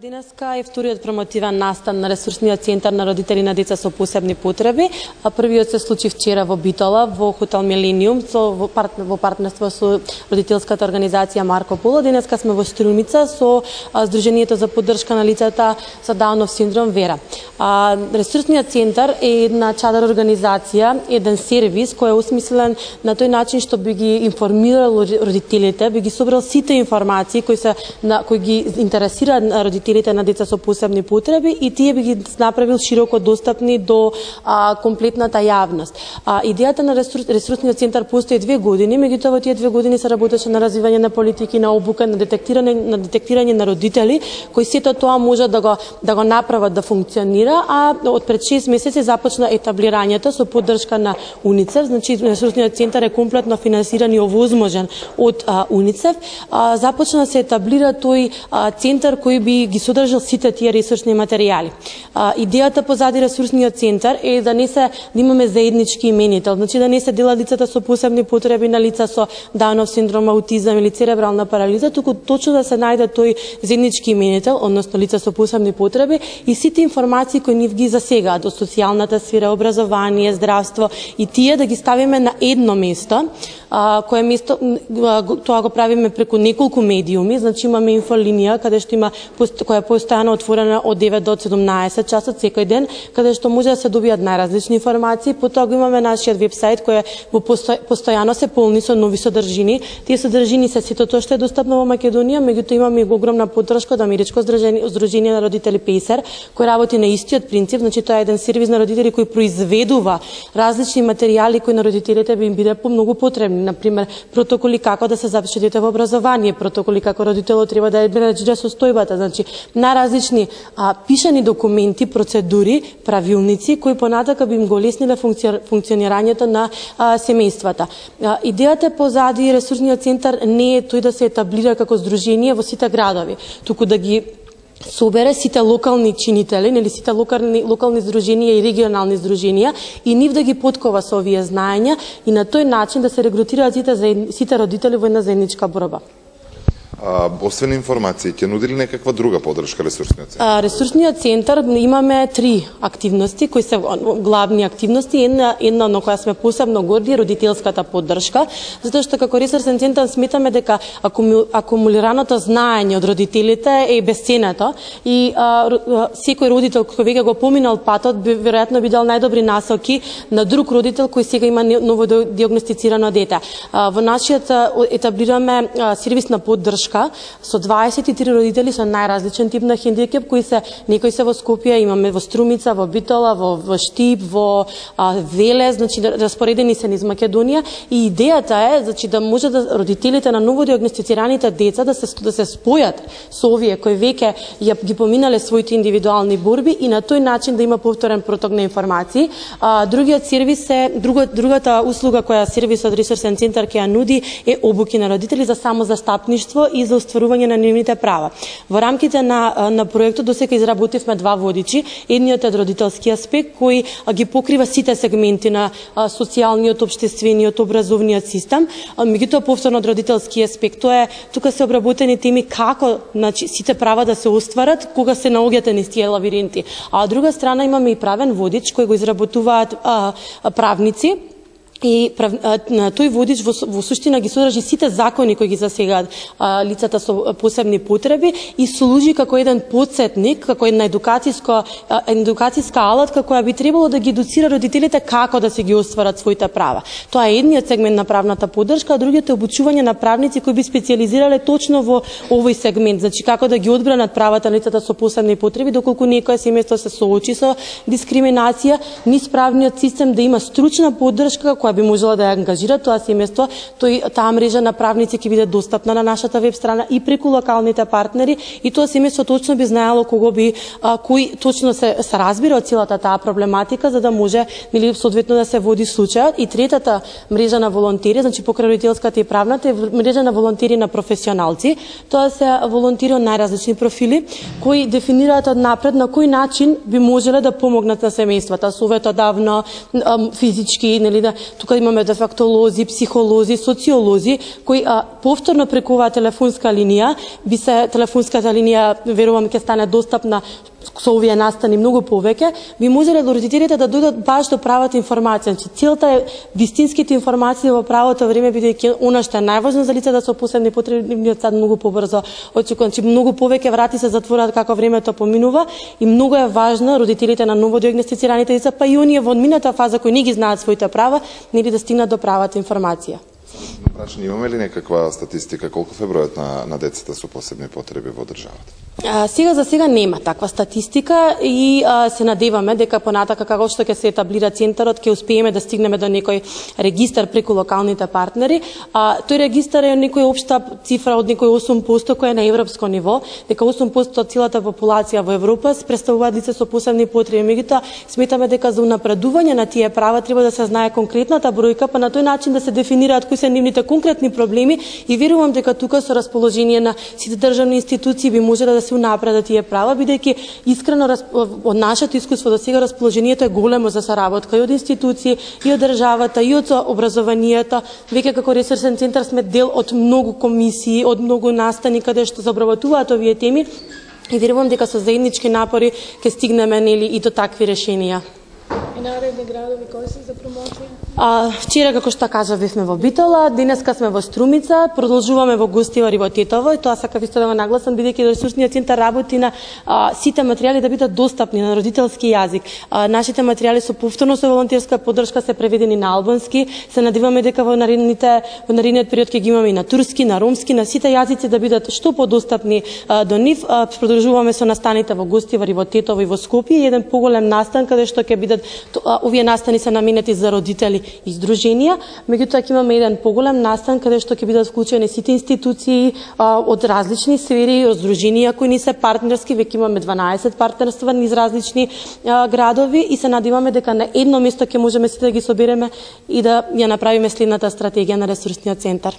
Денеска е вториот промотивен настан на ресурсниот центар на родители на деца со посебни потреби. Првиот се случи вчера во Битола, во хотел Милениум, во партнерство со родителската организација Марко Поло. Денеска сме во Струмица со Сдруженијето за поддршка на лицата со Даунов синдром Вера. Ресурсниот центар е една чадар организација, еден сервис кој е осмислен на тој начин што би ги информирал родителите, би ги собрал сите информации кои ги интересираат родителите на деца со посебни потреби и тие би ги направил широко достапни до комплетната јавност. Идејата на ресурсниот центар постои 2 години, меѓутоа во тие 2 години се работеше на развивање на политики, на обука, на детектирање на родители кои сето тоа може да го направат да функционира, а од пред 6 месеци започна етаблирањето со поддршка на УНИЦЕФ. Значи ресурсниот центар е комплетно финансиран и овозможен од УНИЦЕФ. Започна да се етаблира тој центар кој би ги содржал сите тие ресурсни материјали. Идејата позади ресурсниот центар е да имаме заеднички именител, значи да не се делат лицата со посебни потреби на лица со Даунов синдром, аутизам или церебрална парализа, туку точно да се најде тој заеднички именител, односно лица со посебни потреби и сите информации кои нив ги засегаат од социјалната сфера, образование, здравство и тие да ги ставиме на едно место, кое место тоа го правиме преку неколку медиуми, значи имаме инфолинија каде што има која е постојано отворена од 9 до 17 часот секој ден, каде што може да се добијат најразлични информации. Потоа го имаме нашиот вебсајт кој постојано се полни со нови содржини. Тие содржини се сето тоа што е достапно во Македонија, меѓутоа имаме и огромна поддршка од Америчко здружение на родители Пейсер, кој работи на истиот принцип, значи тоа е еден сервис на родители кој произведува различни материјали кои на родителите би им биде многу потребни, например протоколи како да се запише дете во образование, протоколи како родителот треба да менаџира состојбата, значи најразлични пишани документи, процедури, правилници кои понатака би им го лесниле функционирањето на семејствата. Идејата позади ресурсниот центар не е тој да се етаблира како здружение во сите градови, туку да ги собере сите локални чинители, нели сите локални здруженија и регионални здруженија и нив да ги подкова со овие знаења и на тој начин да се регрутираат сите родители во една заедничка борба. Освен информации, ќе нуди ли некаква друга поддршка ресурсниот центар? Ресурсниот центар имаме 3 активности кои се главни активности. Една на која сме посебно горди, родителската поддршка, затоа што како ресурсен центар сметаме дека акумулираното знаење од родителите е бесценето и секој родител кој веќе го поминал патот веројатно би дал најдобри насоки на друг родител кој сега има ново диагностицирано дете. Во нашиот етаблираме сервис на поддршка со 23 родители со најразличен тип на хендикеп, некои се во Скопје, имаме во Струмица, во Битола, во Штип, во Велес, значи распоредени се низ Македонија и идејата е значи да може да родителите на ново диагностицираните деца да се спојат со овие кои веќе ги поминале своите индивидуални борби и на тој начин да има повторен проток на информации. Другиот сервис е другата услуга која сервисот ресурсен центар ќе ја нуди е обуки на родители за самозастапништво и за остварување на нивните права. Во рамките на проектот досега изработивме 2 водичи. Едниот е родителски аспект кој ги покрива сите сегменти на социјалниот, општествениот, образовниот систем. Меѓутоа повторно од родителски аспект тука се обработени теми како значи сите права да се остварат кога се наоѓате низ тие лавиринти. А од друга страна имаме и правен водич кој го изработуваат правници. И тој водич во суштина ги содржи сите закони кои ги засегаат лицата со посебни потреби и служи како еден потсетник, како една едукацијска алатка која би требало да ги едуцира родителите како да се ги остварат своите права. Тоа е едниот сегмент на правната поддршка, а другиот е обучување на правници кои би специјализирале точно во овој сегмент, значи како да ги одбранат правата на лицата со посебни потреби доколку некое семејство се соочи со дискриминација, низ правниот систем да има стручна поддршка која би можела да ја ангажира тоа семејство, таа мрежа на правници ќе биде достапна на нашата веб страна и преку локалните партнери и тоа семејство точно би знаело кој точно се разбира од целата таа проблематика за да може нели соодветно да се води случајот. И третата мрежа на волонтери, значи покрај родителската и правната, е мрежа на волонтери на професионалци. Тоа се волонтери од најразлични профили кои дефинираат однапред на кој начин би можеле да помогнат на семејствата, советодавно, физички, нели тука имаме дефектолози, психолози, социолози кои повторно преку оваа телефонска линија телефонската линија верувам ќе стане достапна со овие настани многу повеќе, би можеле родителите да дојдат баш до правата информација. Значи, целта е вистинските информации во правото време, бидејќи она што е најважно за лицата со посебни потреби, сад многу побрзо очекувам. Значи, многу повеќе врати се затворат како времето поминува и многу е важно родителите на новодиагностицираните деца, па и оние во одмината фаза кои не ги знаат своите права, нели да стигнат до правата информација. Прашање, имаме ли некаква статистика колку е бројот на децата со посебни потреби во државата? Сега за сега нема таква статистика и се надеваме дека понатака како што ќе се етаблира центарот ќе успееме да стигнеме до некој регистар преку локалните партнери. Тој регистар е некој општа цифра од некој 8% која е на европско ниво, дека 8% од целата популација во Европа се представуваат лица со посебни потреби. Меѓутоа сметаме дека за унапредување на тие права треба да се знае конкретната бројка, па на тој начин да се дефинираат кои се нивните конкретни проблеми и верувам дека тука со расположение на сите државни институции би можеле да се унапредат тие права, бидејќи искрено од нашето искуство до сега расположението е големо за соработка и од институции, и од државата, и од образованието. Веќе како ресурсен центар сме дел од многу комисии, од многу настани каде што се обработуваат овие теми и верувам дека со заеднички напори ќе стигнеме нели и до такви решенија. И наредни градови кои се за промоција? Вчера, како што кажа, бевме во Битола, денеска сме во Струмица, продолжуваме во Гостивар и во Тетово, и тоа сакав исто да го нагласам, бидејќи ресурсниот центар работи на сите материјали да бидат достапни на родителски јазик. Нашите материјали со повторно со волонтерска поддршка се преведени на албански, се надеваме дека во наредниот период ќе ги имаме и на турски, на ромски, на сите јазици да бидат што подостапни до нив. Продолжуваме со настаните во Гостивар и во Тетово и во Скопје, еден поголем настан каде што ќе бидат овие настани се наменети за родители и здруженија, меѓутоа ќе имаме еден поголем настан каде што ќе бидат вклучени сите институции од различни сфери, од здруженија кои ни се партнерски, веќе имаме 12 партнерства низ различни градови и се надеваме дека на едно место ќе можеме сите да ги собереме и да ја направиме следната стратегија на ресурсниот центар.